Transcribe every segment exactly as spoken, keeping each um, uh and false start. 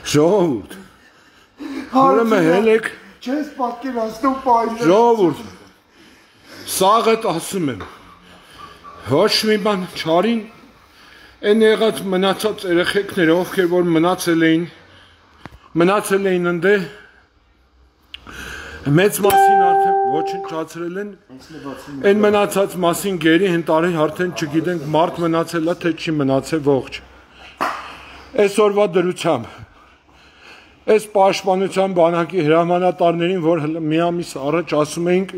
Ժողովուրդ, ուրեմն հելեք, չես պատկերացնում պայմանները։ Ժողովուրդ, սաղդ ասում եմ, ոչ մի բան չարին, այն եղած մնացած երեխեքները, ովքեր որ մնացել էին, մնացել էին ընդե, մեծ մասին արդեն ոչնչացրել են, այն մնացած մասին գերի հնտարի արդեն չգիտենք մարդ մնացել է, թե չի մնացել ողջ։ Այսօրվա դրությամբ, այս պաշտպանության բանակի հրամանատարներին, որ մի ամիս առաջ ասում էինք,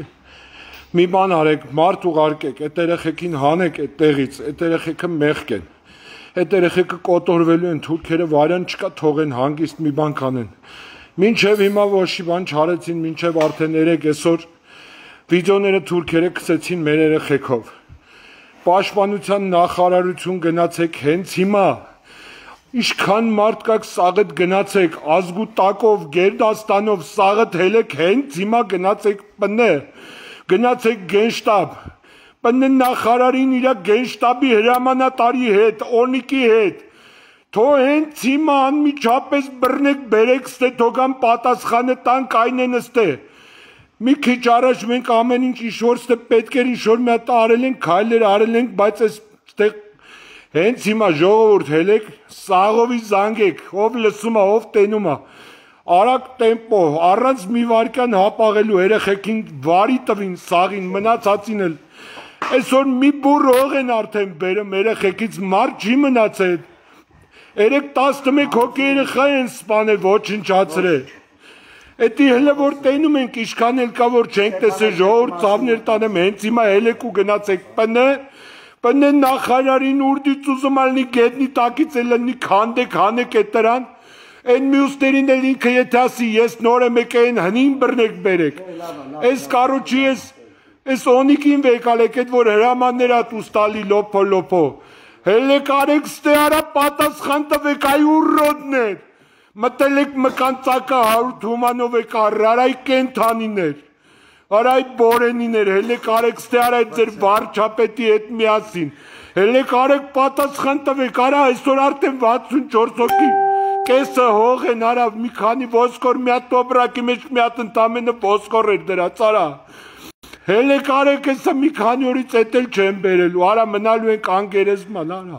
մի բան արեք, մարդ ուղարկեք, այդ երեխեքին հանեք այդ տեղից, այդ երեխեքը մեղք են, այդ երեխեքը կոտորվելու են, թուրքերը վարյան չկա թողեն հանգիստ մի բան կանեն։ Մինչև հիմա ոչի բան չարեցին, մինչև արդեն երեք այսօր վիդեոները թուրքերը գցեցին մեր երեխեքով։ Պաշտպանության նախարարություն գնացեք հենց հիմա։ Իշքան մարդ կաք սաղդ գնացեք, ազգու տակով, Գերդաստանով սաղդ հելեք հենց հիմա գնացեք պնը, գնացեք գենշտաբ, պնը նախարարին իրա գենշտաբի հրամանատարի հետ, օնիկի հետ, թո հենց հիմա անմիջապես բռնեք բերեք ստե, թոգան պատասխանը տանք այն են ստե, մի քիչ առաջ մենք ամեն ինչ իշոր ստե պետք էր իշոր մի հատ արել ենք, քայլեր արել ենք, բայց այս ստեղ հենց հիմա ժողովուրդ հելեք, սաղովի զանգեք, ով լսում է, ով տենում է, արագ տեմպո, առանց մի վարկյան հապաղելու երեխեքին վարի տվին, սաղին, մնացածին էլ, այսօր մի բուռ հող են արդեն բերում երեխեքից, մարդ չի մնացել, երեք տասնմեկ հոգի երեխա են սպանել, ոչնչացրել, էդի հելը որ տենում ենք, իշքան էլ կա, որ չենք տեսել ժողովուրդ ծավներ տանեմ, հենց հիմա հելեք ու գնացեք պնը, պնը նախարարին ուրդից ուզում ալնի գետնի տակից էլ լնի քանդեք, հանեք էդ տրան, այն մյուսներին էլ ինքը եթե ասի, ես նոր եմ եք այն հնին բռնեք բերեք, այս կարոչի ես օնիկին վեկալեք, էդ որ հրամաններ ատ ուստալի լոպո լոպո, հելեք արեք ստե արա պատասխան տվեք այ ուրրոդներ, մտել եք մկանցակը հարուտ հումանով եք առր, արայ կենթանիներ, արայ բորենիներ, հելեք արեք ստե արայ ձեր վարչապետի հետ միասին, հելեք արեք պատասխան տվեք, արա այսօր արդեն վաթսունչորս հոգի, կեսը հող են արա, մի քանի ոսկոր մի հատ տոբրակի մեջ մի հատ ընդամենը ոսկոր էր դրած, արա, հելեք արեք եսը մի քանի օրից էտ էլ չեն բերելու, արա մնալու ենք անգերեզման, արա,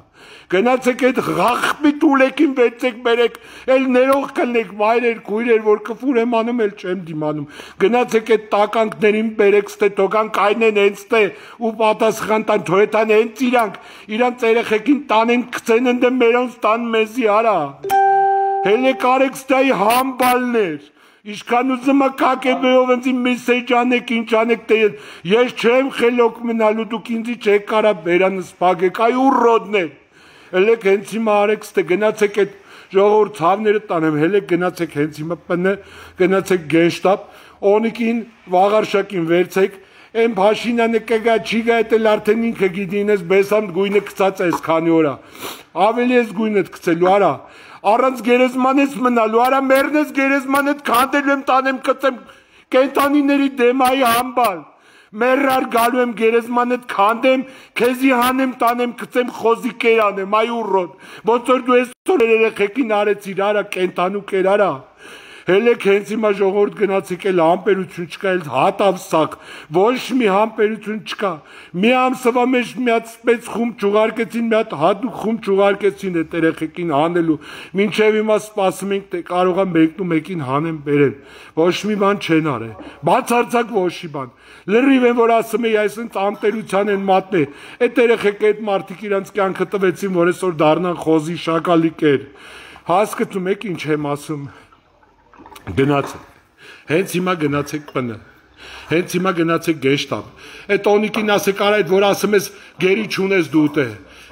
գնացեք էդ ղախպի տուլեկին վեցեք բերեք, էլ ներող կլնեք վայրեր, կույրեր, որ կվուր եմ անում, էլ չեմ դիմանում, գնացեք էդ տականքներին բերեք ստե, թոգան կայնեն հենց տե ու պատասխան տան, թոյետան հենց իրանք, իրանց երեխեքին տանեն կծեն ընդը մերոնց տան մեզի, արա, հելեք արեք ստե այ համբալներ, Իշքան ուզում է կակեբեով ընձի մեսեջ անեք, ինչ անեք, ես չեմ խելոք մնալու, դուք ինձի չեք կարա բերանս պագեք, այ ուրրոդներ, հելեք հենց հիմա արեք ստե, գնացեք էդ ժողովուրդ ցավները տանեմ, հելեք գնացեք հենց հիմա պնը, գնացեք գենշտաբ, օնիկին, վաղարշակին վերցեք, են Փաշինյանը կգա, չի գա, էդ էլ արդեն ինքը գիտին, ես բեսամ գույնը կծած ես քանի օրա, ավելի ես գույնդ կծելու, արա, առանց գերեզման ես մնալու, արա մերն ես գերեզման հետ քանդելու եմ տանեմ կծեմ կենտանիների դեմ այ համբալ, մերրար գալու եմ գերեզման հետ քանդեմ, քեզի հանեմ տանեմ կծեմ խոզի կեր անեմ, այ ուրոտ, ոնց որ դու այսօր երեխեքին արեցիր, արա կենտանու կեր, արա, հելեք հենց հիմա ժողովուրդ գնացեք էլ համբերություն չկա, էլ հատավ սակ, ոչ մի համբերություն չկա, մի ամսվա մեջ մի հատ սպեց խումբ չուղարկեցին, մի հատ հատուկ խումբ չուղարկեցին էդ երեխեքին հանելու, մինչև հիմա սպասում ենք, թե կարող է մեկն ու մեկին հանեն բերեն, ոչ մի բան չեն արել, բացարձակ ոչ մի բան, լրիվ են որ ասում էի այսինքն ամտերության են մատնել, էդ երեխեքը էդ մարդիկ իրանց կյանքը տվեցին, որ այսօր դառնան խոզի շակալի կեր, հասկացում եք ինչ եմ ասում Գնացեք, հենց հիմա գնացեք պնը, հենց հիմա գնացեք գեշտաբ, էդ օնիկին ասեք արա էդ որ ասում ես գերի չունես դու տե,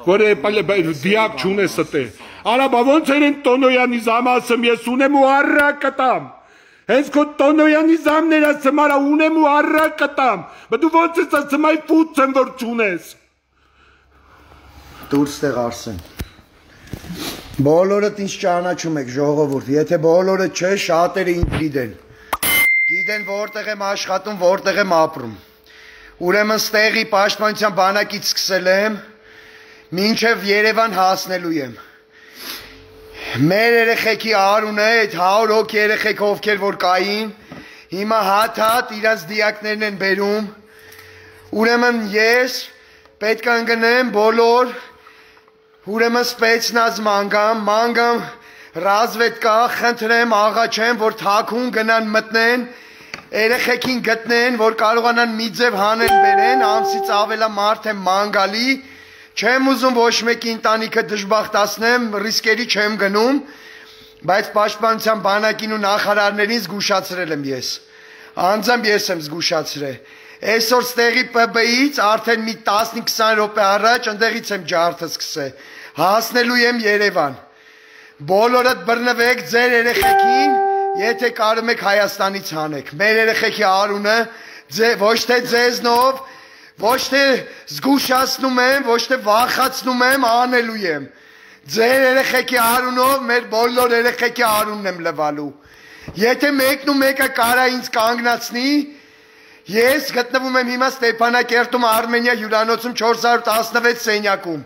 որ դիակ չունես տե, արա բա ոնց էր են Տոնոյանի զամը ասում ես ունեմ ու առրա կտամ, հենց քո Տոնոյանի զամներ ասում արա ունեմ ու առրա կտամ, բա դու ոնց ես ասում այ ֆուց եմ որ չունես, դուրս տեղ Արսեն, բոլորդ ինձ ճանաչում եք ժողովուրդ, եթե բոլորը չէ, շատերը ինձ գիտեն, գիտեն որտեղ եմ աշխատում, որտեղ եմ ապրում, ուրեմն ստեղի պաշտպանության բանակից սկսել եմ, մինչև Երևան հասնելու եմ, Մեր երեխեքի արունը այդ հարյուր հոգի երեխեք ովքեր որ կային, հիմա հատ-հատ իրաց դիակներն են բերում, ուրեմն ես պետք է ընկնեմ բոլոր, ուրեմն սպեցնազ մանգամ, մանգամ ռազվետկա, խնդրեմ, աղաչեմ, որ թաքուն գնան մտնեն, երեխեքին գտնեն, որ կարողանան մի ձև հանեն բերեն, ամսից ավելա մարդ եմ մանգալի, չեմ ուզում ոչ մեկի ընտանիքը դժբախտացնեմ, ռիսկերի չեմ գնում, բայց պաշտպանության բանակին ու նախարարներին զգուշացրել եմ ես, անձամբ ես եմ զգուշացրել, այսօր ստեղի Պ B-ից արդեն մի տասնից քսան րոպե առաջ ընդեղից եմ ջարդը սկսել, հասնելու եմ Երևան, բոլորդ բռնվեք ձեր երեխեքին, եթե կարում եք Հայաստանից հանեք, մեր երեխեքի արունը ոչ թե ձեզնով, ոչ թե զգուշացնում եմ, ոչ թե վախացնում եմ, անելու եմ, ձեր երեխեքի արունով մեր բոլոր երեխեքի արունն եմ լվալու, եթե մեկն ու մեկը կարա ինձ կանգնացնի, ես գտնվում եմ հիմա Ստեփանակերտում Արմենիա հյուրանոցում չորս հարյուր տասնվեց սենյակում,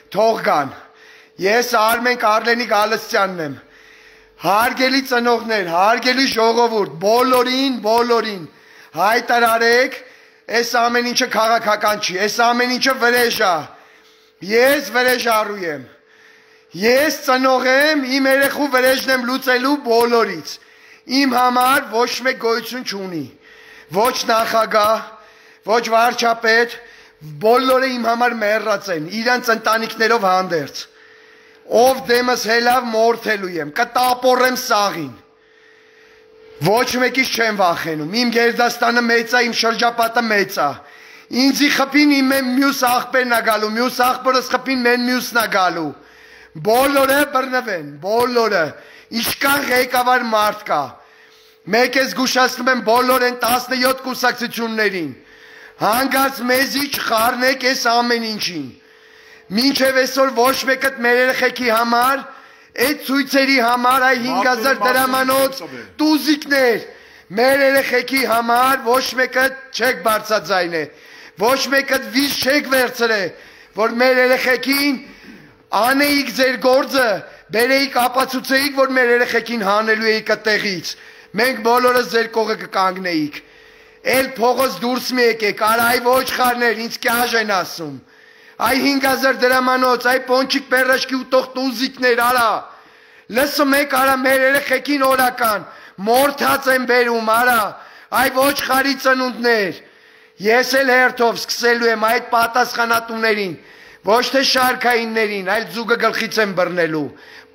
թող գան, ես Արմեն Կարլենիկ Ալստյանն եմ, հարգելի ծնողներ, հարգելի ժողովուրդ, բոլորին, բոլորին, հայտարարեք, այս ամեն ինչը քաղաքական չի, այս ամեն ինչը վրեժ է, ես վրեժառու եմ, ես ծնող եմ, իմ երեխու վրեժն եմ լուծելու բոլորից, իմ համար ոչ մեկ գոյություն չունի, ոչ նախագահ, ոչ վարչապետ, բոլորը իմ համար մեռած են, իրանց ընտանիքներով հանդերձ, ով դեմս հելավ մորթելու եմ, կտապորեմ սաղին, ոչ մեկից չեմ վախենում, իմ գերդաստանը մեծ է, իմ շրջապատը մեծ է, ինձի խպին իմ մյուս աղբերն է գալու, մյուս աղբորս խպին մեն մյուսն է գալու, բոլորը բռնվեն, բոլորը, իշկան ղեկավար մարդ կա, մեկ ես գուշացնում եմ բոլոր են տասնյոթ կուսակցություններին, հանգած մեզի չխառնեք այս ամեն ինչին, մինչև այսօր ոչ մեկը մեր երեխեքի համար, այդ ցույցերի համար, այ հինգ հազար դրամանոց տուզիկներ, մեր երեխեքի համար ոչ մեկը չեք բարձրաձայնել, ոչ մեկը վիզ չեք վերցրել, որ մեր երեխեքին անեիք ձեր գործը, բերեիք ապացուցեիք, որ մեր երեխեքին հանելու էիք այդտեղից, մենք բոլորս ձեր կողը կկանգնեիք, էլ փողոց դուրս մի եկեք, արայ ոչ խառներ, ինձ կյաժ են ասում, այ հինգ հազար դրամանոց, այ պոնչիկ պերաշկի ու տող տուզիկներ, արա, լսում եք, արա, մեր երեխեքին օրական, մորթած են բերում, արա, այ ոչ խարի ծնունդներ, ես էլ հերթով սկսելու եմ այդ պատասխանատուներին, ոչ թե շարքայիններին, այլ ձուգը գլխից եմ բռնելու,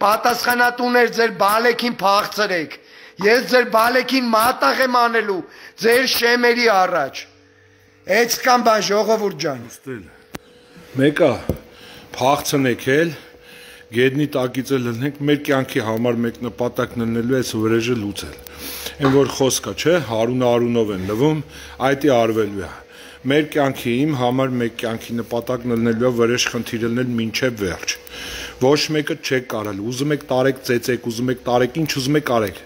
պատասխանատուներ ձեր բալեքին փախցրեք, ես ձեր բալեքին մատաղ եմ անելու, ձեր շեմերի առաջ, էց կան բան ժողովուրդ ջան, մեկը փախցնեք էլ, գետնի տակից էլ լնենք, մեր կյանքի համար մեկ նպատակն լինելու այս վրեժը լուծել, են որ խոսքա չէ, հարունը արունով են լվում, այդ է արվելու է, մեր կյանքի իմ համար մեկ կյանքի նպատակն լինելու է վրեժ խնդիրը լինել մինչև վերջ, ոչ մեկը չեք կարել, ուզում եք տարեք ծեծեք, ուզում եք տարեք, ինչ ուզում եք արեք,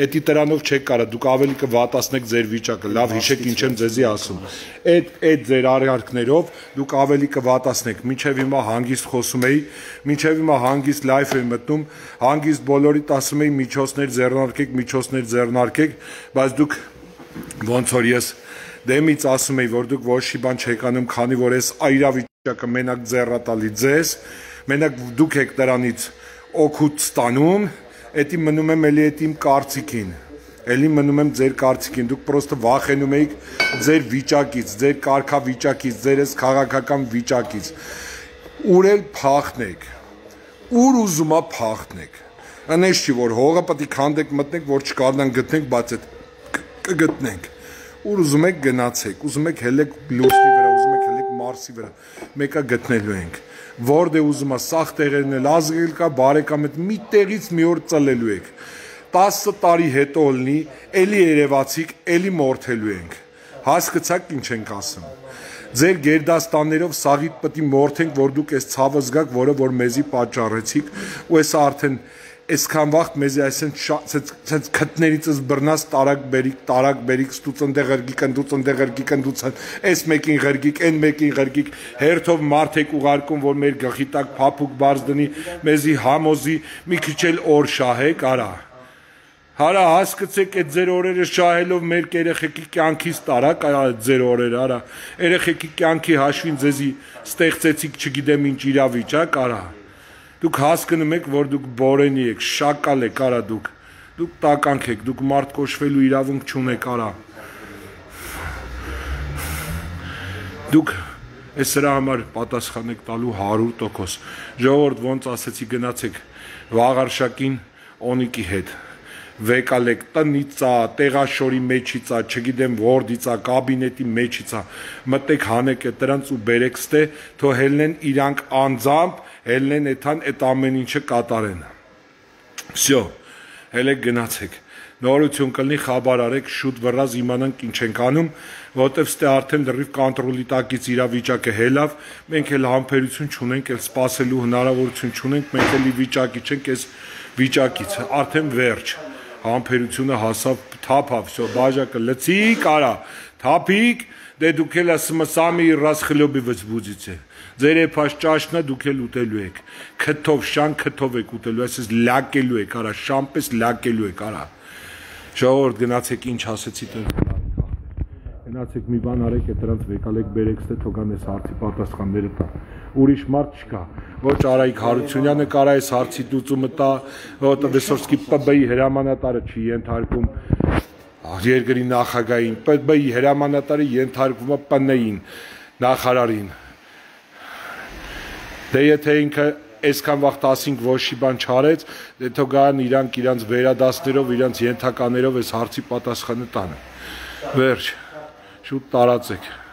էդի տրանով չեք կարա, դուք ավելի կվատացնեք ձեր վիճակը, լավ հիշեք ինչ եմ ձեզի ասում, այդ այդ ձեր արարքներով դուք ավելի կվատացնեք, մինչև հիմա հանգիստ խոսում էի, մինչև հիմա հանգիստ լայվ էի մտնում, հանգիստ բոլորիդ ասում էի միջոցներ ձեռնարկեք, միջոցներ ձեռնարկեք, բայց դուք ոնց որ ես դեմից ասում էի, որ դուք ոչ մի բան չեք անում, քանի որ այս այրավիճակը մենակ ձեռատալի ձեզ, մենակ դուք եք դրանից օգուտ ստանում, էդի մնում եմ էլի էդ իմ կարծիքին, էլի մնում եմ ձեր կարծիքին, դուք պրոստը վախենում էիք ձեր վիճակից, ձեր կարգավիճակից, ձեր այս քաղաքական վիճակից, ուր էլ փախնեք, ուր ուզումա փախնեք, անես չի, որ հողը պետք է քանդեք մտնեք, որ չկարողանան գտնենք, բայց այդ կգտնենք, ուր ուզում եք գնացեք, ուզում եք հելեք լուսնի վրա, ուզում եք հելեք Մարսի վրա, մեկը գտնելու ենք, որդ է ուզում է սաղ տեղերն էլ ազգել կա, բարեկամ էդ մի տեղից մի օր ծլելու եք, տասը տարի հետո լինի, էլի երևացիք, էլի մորթելու ենք, հասկացաք ինչ ենք ասում, ձեր գերդաստաններով սաղիդ պետք է մորթենք, որ դուք այս ցավը զգաք, որը որ մեզի պատճառեցիք, ու այս արդեն այսքան վաղ մեզ այսպես քթներիցս բռնած տարակ բերիկ տարակ բերիկ ստուց ընդեղ ղրգիկ ընդուց ընդեղ ղրգիկ ընդուց այս մեկին ղրգիկ այն մեկին ղրգիկ հերթով մարդ եք ուղարկում որ մեր գլխի տակ փափուկ բարձ դնի մեզի համոզի մի քիչ էլ օր շահեք արա Հարա հասկացեք այդ ձեր օրերը շահելով մեր երեխեքի կյանքից տարակ այ ձեր օրերը արա երեխեքի կյանքի հաշվին ձեզի ստեղծեցիք չգիտեմ ինչ իրավիճակ արա Դուք հասկանում եք որ դուք բորենի եք շակալ եք արա դուք դուք տականք եք դուք մարդ կոչվելու իրավունք չունեք արա Դուք այս սրա համար պատասխան եք տալու հարյուր տոկոս ժողովուրդ ոնց ասեցի գնացեք վաղարշակին օնիկի հետ Վեկալեք տնիցա, տեղաշորի մեջիցա, չգիտեմ որդիցա, կաբինետի մեջիցա, մտեք հանեք այդ դրանց ու բերեք ստե, թո հելնեն իրանք անձամբ, հելնեն էթան այդ ամեն ինչը կատարեն։ Всё, հելեք գնացեք։ Նորություն կլինի խաբար արեք, շուտ վռած իմանանք ինչ ենք անում, որտեվ ստե արդեն լրիվ կոնտրոլի տակից իրավիճակը հելավ, մենք էլ համբերություն չունենք, էլ սպասելու հնարավորություն չունենք, մենք էլ ի վիճակի չենք այս վիճակից, արդեն վերջ։ Համբերությունը հասավ թափավ, всё, բաժակը լցիկ արա, թափիկ, դե դուք էլ սմսամի ռասխլոբի վզբուձիցե։ Ձեր եփաշ ճաշնա դուք էլ ուտելու եք։ Քթով շան քթով եք ուտելու, այսպես լակելու եք, արա, շամպես լակելու եք, արա։ Ժողովուրդ գնացեք ինչ ասեցի տեր։ Գնացեք մի բան արեք, այդ դրանց վեկալեք բերեք ստե թողան այս հարցի պատասխանները տա։ Ուրիշ մարդ չկա։ Ոչ Արայիկ Հարությունյանը կարա այս հարցի լուծումը տա, որտեղ Վեսովսկի ՊԲ-ի հրամանատարը չի ենթարկում երկրի նախագահին, ՊԲ-ի հրամանատարը ենթարկվում է ՊՆ-ին, նախարարին։ Դե եթե ինքը այսքան վաղ ասինք ոչի բան չարեց, դե թողան իրանք իրանց վերադասներով, իրանց ենթականերով այս հարցի պատասխանը տան։ Վերջ, շուտ տարածեք։